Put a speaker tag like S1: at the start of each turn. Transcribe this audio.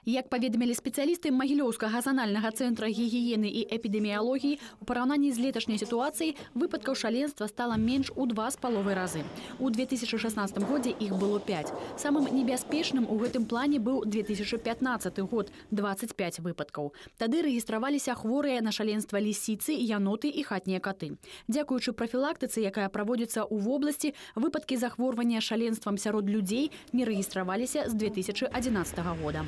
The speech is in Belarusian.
S1: Як паведамілі спецыялісты Магілёўскага занальнага цэнтра гігіены і эпідэміялогіі, у параўнанні з леташняй сітуацыяй выпадкаў шаленства стала менш у 2,5 разы. У 2016 годзе іх было 5. Самым небяспечным у гэтым плане быў 2015 год – 25 выпадкаў. Тады рэгістраваліся хворыя на шаленства лісіцы, яноты і хатнія каты. Дзякуючы прафілактыцы, якая праводзіцца ў вобласці, выпадкі захворвання шаленствам сярод людзей не рэгістраваліся з 2011 года.